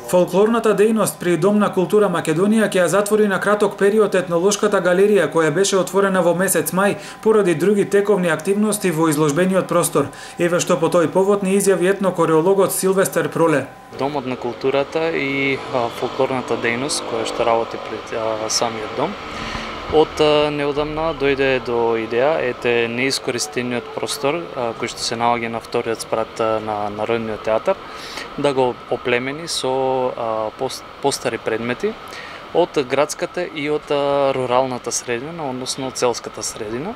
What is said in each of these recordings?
Фолклорната дејност при Дом на култура Македонија ќе ја затвори на краток период етнолошката галерија која беше отворена во месец мај поради други тековни активности во изложбениот простор. Еве што по тој повод ни изјави етнокореологот Силвестер Проле. Домот на културата и фолклорната дејност која што работи пред самиот дом. Од неодамна дојде до идеја, неискористениот простор кој што се наоѓа на вториот спрат на Народниот театар, да го оплемени со постари предмети од градската и од руралната средина, односно од селската средина.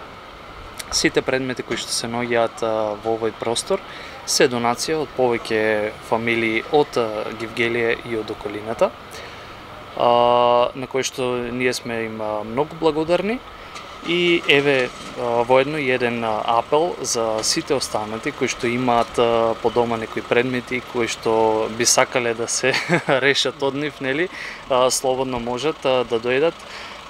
Сите предмети кои што се наоѓаат во овој простор се донација од повеќе фамилии од Гевгелие и од околината, на кои што ние сме им многу благодарни. И еве воедно еден апел за сите останати кои што имаат по дома некои предмети кои што би сакале да се решат од нив, нели, слободно можат да дојдат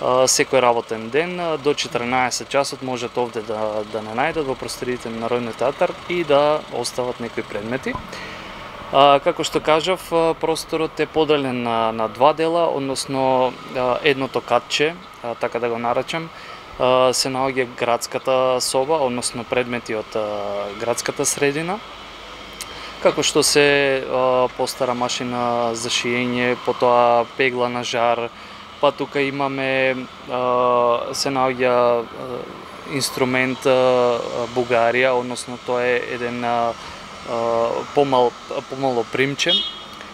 секој работен ден до 14 часот можат овде да не најдат во просториите на Народниот театар и да остават некои предмети. Како што кажав, просторот е поделен на два дела, односно едното катче, така да го наречам, се наоѓа градската соба, односно предмети од градската средина, како што се постара машина за шиење, потоа пегла на жар, па тука имаме се наоѓа инструмент бугарија, односно тоа е еден помало примче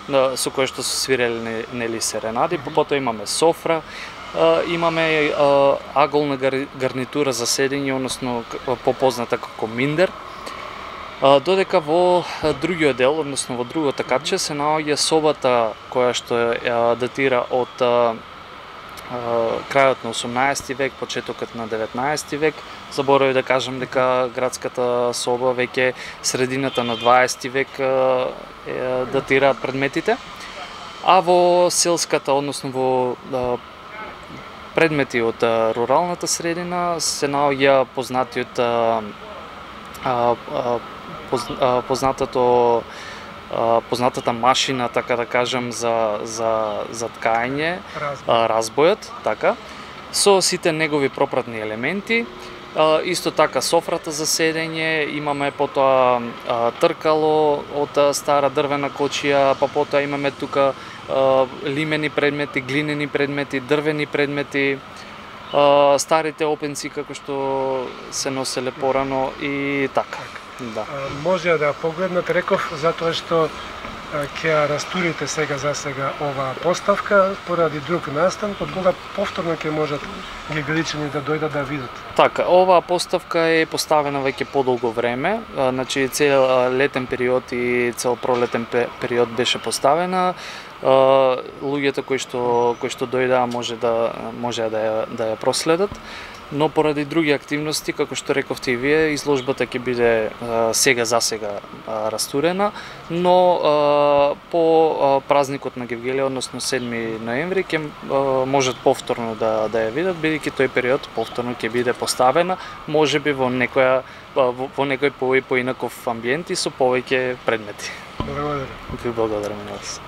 со кое што се свиреле нели серенади, потоа имаме софра, имаме аголна гарнитура за седење, односно попозната како миндер, додека во другиот дел, односно во другото катче се наоѓа собата која што датира од крајот на 18 век, почетокот на 19 век. Заборавив да кажам дека градската соба веќе средината на 20 век датираат предметите, а во селската, односно во предмети од руралната средина се наоѓа познатата машина, така да кажам, за ткање, разбојот, така, со сите негови пропратни елементи. Исто така софрата за седење, имаме потоа тркало од стара дрвена кочија, па потоа имаме тука лимени предмети, глинени предмети, дрвени предмети, старите опенци како што се носеле порано и така. Да. Може да погледнат, реков, затоа што ќе ја растурите сега за сега оваа поставка поради друг настан, под кога повторно ќе можат гевгеличани да дојдат да видат. Така, оваа поставка е поставена веќе подолго време, значи цел летен период и цел пролетен период беше поставена. Луѓето кои што дојдаа може да ја проследат, но поради други активности, како што рековте и вие, изложбата ќе биде сега за сега растурена, но по празникот на Гевгелие, односно 7 ноември, ќе можат повторно да ја видат, бидејќи тој период повторно ќе биде поставена, можеби во некој поинаков амбиент и со повеќе предмети. Благодарам. Ви благодарам на вас.